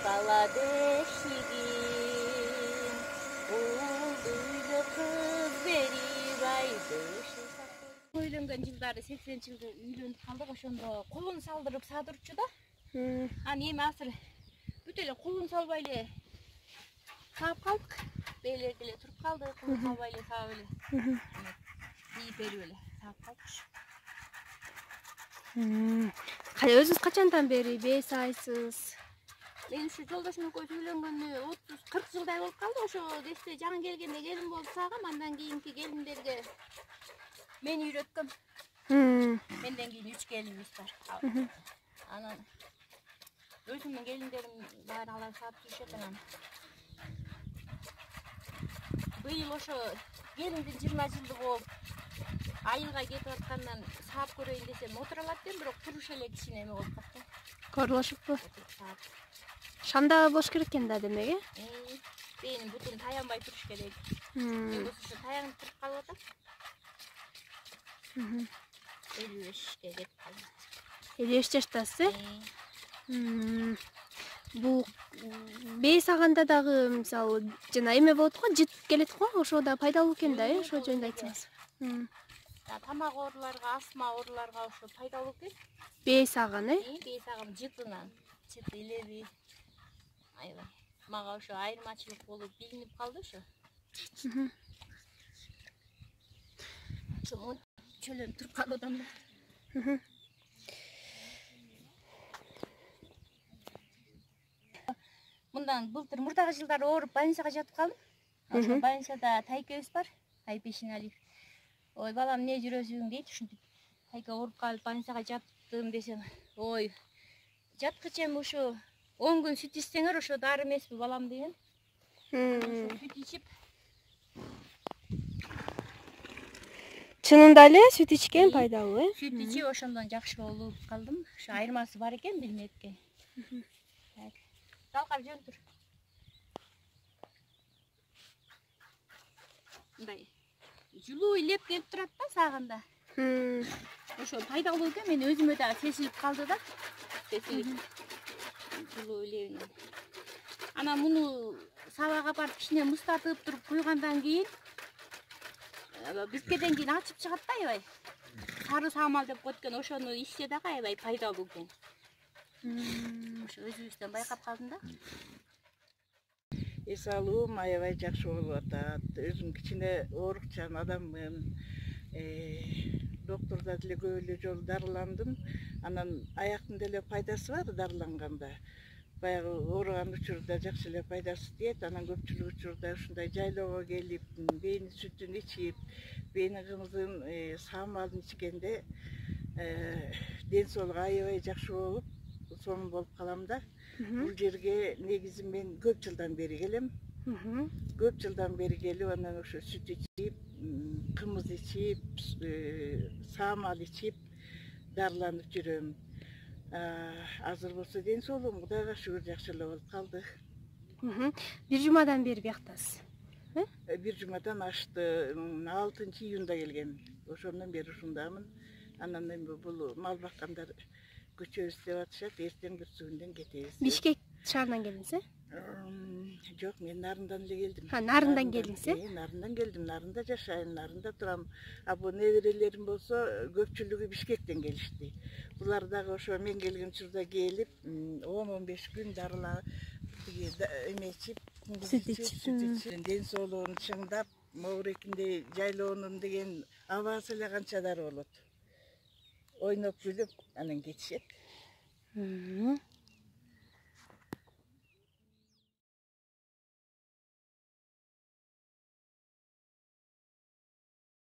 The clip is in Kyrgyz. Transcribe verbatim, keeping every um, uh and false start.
бала бешигин улдуйлу кыз берип айды. Үйлөнгөн жылдары сексенинчи жылда үйлөнүп калдык, ошондо кулун салдырып садырчу да. Анан эми азыр бүт эле кулун салбай эле саап калдык. Бейлерди эле туруп калды, кулун салбай эле саап эле. Ийип берип эле саап калдык. Өзүңүз качандан бери бээ саайсыз? Мен ушу жолдошум экөөбүз үйлөнгөнгө отуз кырк жылдай болуп калды. Ошо десте жаңы келгенде келин болуп саагам, андан кийинки келиндерге мен үйрөткөм. Менден кийин үч келинибиз бар. Анан өзүмдүн келиндерим баары алар саап жүрүшөт анан. Быйыл ошо келиндин жыйырма жылдыгы болуп, айылга кетип аткандан саап көрөйүн десем отура алат экен, бирок туруш эле кичине эме болуп калды. Корулушуппу? Шамдагы болуш керек экен да, демек, э? Бээнин бутун таянбай туруш керек. Жогосу ошо таянып туруп калып атат. элүү бешке кетип калды. элүү беш жаштасыз, э? Бул бээ саганда дагы мисалы жана эме болот го, жыт келет го, ошо да пайдалуу экен да, э? Ошо жөнүндө айтсаңыз. Тамак ооруларга, астма ооруларга ошо пайдалуу экен. Бээ саган, э? Бээ саган жытынан, жыт илеби. Аябай. Мага ошо айырмачылык болуп билинип калды ошо. Ошо чөлөнүп туруп калып атам да. Мындан былтыр мурдагы жылдары ооруп больницага жатып калдым. Ошо больницада Тайкебиз бар, Айып Эшеналиев. Ой, балам, эмне жүрөсүң дейт, ушинтип. Тайка ооруп калып больницага жаттым десем, ой, жаткыча эми ошо он күн сүт ичсеңер ошо дары эмеспи балам деген. Ошо сүт ичип. Чынында эле сүт ичкен пайдалуу, э? Сүт ичип ошондон жакшы болуп калдым. Ошо айырмасы бар экен билмепке. Талкап жөн тур. Мындай жылуу илеп келип турат да сагында. Ошо пайдалуу экен, мен өзүмө да сезилип калды да. Сезилип. Жылуу илебин. Анан муну сабага барып кичине мустатып туруп куйгандан кийин бизгеден кийин ачып чыгат да аябай. Сары самал деп коет экен, ошону ичсе дагы аябай пайдалуу экен. Ошо өзүбүздөн байкап калдым да. Эс алуум аябай жакшы болуп атат. Өзүм кичине оорукчан адаммын. Доктурда деле көп эле жолу дарыландым. Анан аяктын деле пайдасы бар дарыланганда. Баягы ооруган учурда жакшы эле пайдасы тиет. Анан көпчүлүк учурда ушундай жайлоого келип, бээнин сүтүн ичип, бээнин кымызын, саамалын ичкенде ден соолук аябай жакшы болуп, сонун болуп калам да. Бул жерге негизи мен көп жылдан бери келем. Көп жылдан бери келип, анан ошо сүт ичип, кымыз ичип, саамал ичип дарыланып жүрөм. Азыр болсо ден соолугум Кудайга шүгүр жакшы эле болуп калды. Бир жумадан бери бияктасыз, э? Бир жумадан ашты. алтынчы июнда келгем. Ошондон бери ушундамын. Анан эми бул мал баккандар көчөбүз деп атышат, эртең бүрсүгүндөн кетебиз. Бишкек шаарынан келдиңиз, э? Жок, мен Нарындан эле келдим. Ha, Нарындан келдиңиз, э? Нарындан келдим, Нарында жашайм, Нарында турам. А бу неберелерим болсо көпчүлүгү Бишкектен келишти. Булар дагы ошо мен келген учурда келип, он он беш күн дарыла эме ичип, сүт ичип, ден соолугун чыңдап, моурекиндей жайлоонун деген абасы эле канча дары болот. Ойноп күлүп, анан кетишет.